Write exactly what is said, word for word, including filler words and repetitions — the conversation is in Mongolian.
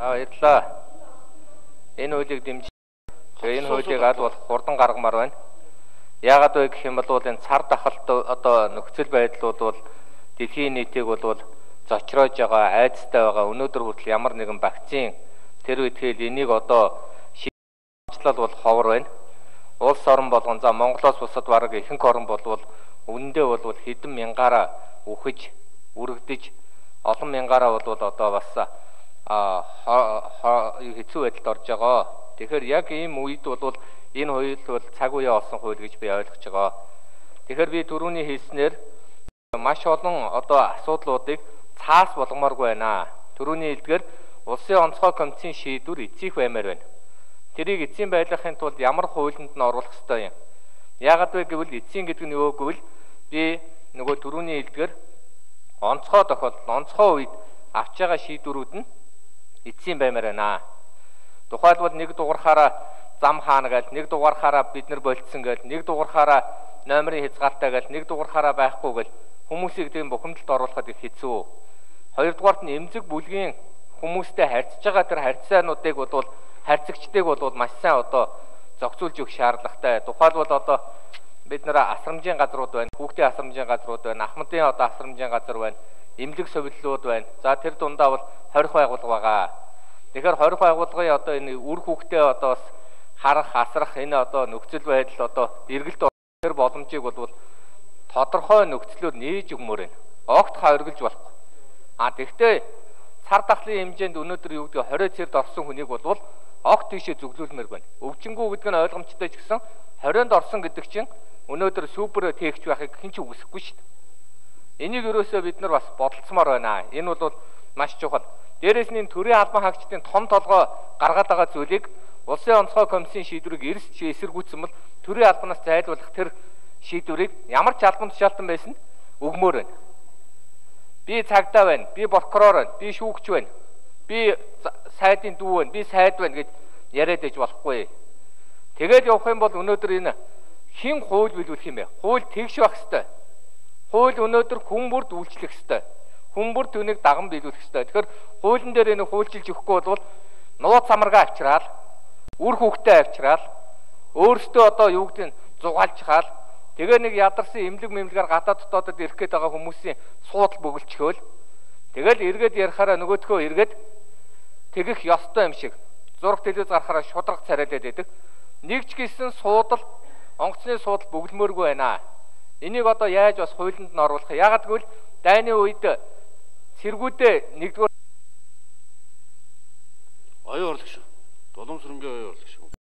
Аа ирлаа. Энэ хуулийг дэмжиж энэ хуулийг аль болох хурдан гаргамаар байна. Яагаад вэ гэх юм бол энэ цар тахалт одоо нөхцөл байдлууд бол дэлхийн нийтийг бол зочроож байгаа, айцтай байгаа. Өнөөдөр хүртэл ямар нэгэн вакцин тэр үедхэл энийг одоо шийдлэл бол ховор байна. Улс орон болгон за Монголоос бусад бараг ихэнх орн болвол үнэндээ бол хэдэн мянгаараа үхэж, үргэлдэж олон мянгаараа бол одоо бас а хэцүү байдалд орж байгаа. Тэгэхээр яг ийм үед бол энэ хууль бол цаг үеэ олсон хууль гэж би ойлгож байгаа. Тэгэхээр би түрүүний хэлснээр маш олон одоо асуудлуудыг цаас болгомооргүй байна. Түрүүний хэлдгээр улсын онцгой комиссийн шийдвэр эцсих баймаар байна. Тэрийг эцсийн байдлахын тулд ямар хуулинд нь оруулах ёстой юм? Яагаад вэ гэвэл эцсийн гэдэг нь юу гэвэл би нөгөө түрүүний хэлдгээр онцгой тохиолдол, онцгой үед авч байгаа шийдвэрүүд нь эцсийн баймаар байна. Тухайлбал нэг дугаархаараа зам хаана гээл, нэг дугаархаараа бид нар болцсон гээл, нэг дугаархаараа номерын хязгаартай гээл, нэг дугаархаараа байхгүй гээл хүмүүсийг тийм бухимдалд оруулахад их хэцүү. Хоёрдугаарт нь эмзэг бүлгийн хүмүүстэй харьцаж байгаа тэр харьцаануудыг бол харьцагчдыг бол маш сайн одоо зохицуулж өгөх шаардлагатай. Тухайлбал одоо бид нэр асрамжийн газрууд байна, хүүхдийн асрамжийн газрууд байна, ахмадын одоо асрамжийн газар байна, эмнэлэг совиллууд байна. За тэр дундаа бол хорих байгууллага байгаа. Тэгэхээр хорих байгууллагын одоо энэ үр хүүхдээ одоо бас харах, асрах энэ одоо нөхцөл байдал одоо эргэлт тэр боломжийг бол тодорхой нөхцлөөр нээж өгмөр байна. Огт хоригдж болохгүй. А тэгвэл цар тахлын хэмжээнд өнөөдөр юу гэдэг хорой цэрд орсон хүнийг бол огт тийшээ зөвлүүлмээр байна. Өвчнгүү гэдэг нь ойлгомжтой ч гэсэн хорионд орсон гэдэг чинь өнөөдөр супер техч байхыг хэн ч үгүйсэхгүй шүү дээ. Энийг ерөөсөө бид нар бас бодолцмоор байна. Энэ бол маш чухал. Дээрээс нь төрийн албан хаагчдын том толгой гаргаад байгаа зүйлийг улсын онцгой комиссийн шийдвэрийг эрс эсэргүүцсэн бол төрийн албанаас зайлуулах тэр шийдвэрийг ямар ч албан тушаалтан байсан өгмөр байна. Би цагдаа байна, би прокурор байна, би шүүгч байна, би сайдын дүү байна, би сайд байна гэж яриад иж болохгүй. Тэгээд явах юм бол өнөөдөр энэ хин хууль биелүүлэх юм бэ? Хууль тэгш байх ёстой. Хууль өнөөдөр хүн бүрд үйлчлэх ёстой. Хүн бүр түүнийг даган биелүүлэх ёстой. Тэгэхээр хуулийн дээр энэ хуульчилж өгөхгүй бол нууц самаргаа авчраал, үр хүүхдээ авчраал, өөрсдөө одоо юу гэдэг нь зугаалж хаал. Тэгээ нэг ядарсан эмнэлэг мэмлэгээр гадаад дотоодод ирэх гээд байгаа хүмүүсийн суудал бөглөчхөөл. Тэгэл эргээд ярихаараа нөгөөдхөө эргээд тэгэх ёстой юм шиг зураг телевиз гарахаараа шудраг царайлаад байдаг. Нэг ч гэсэн суудал, онгоцны суудал бөглөмөөргүй байна. Энийг одоо яаж бас хуулинд нь оруулах? Яагаад гэвэл дайны үед цэргүүдээ нэгдүгээр оюун орлогч. Долоомсрынгийн оюун орлогч.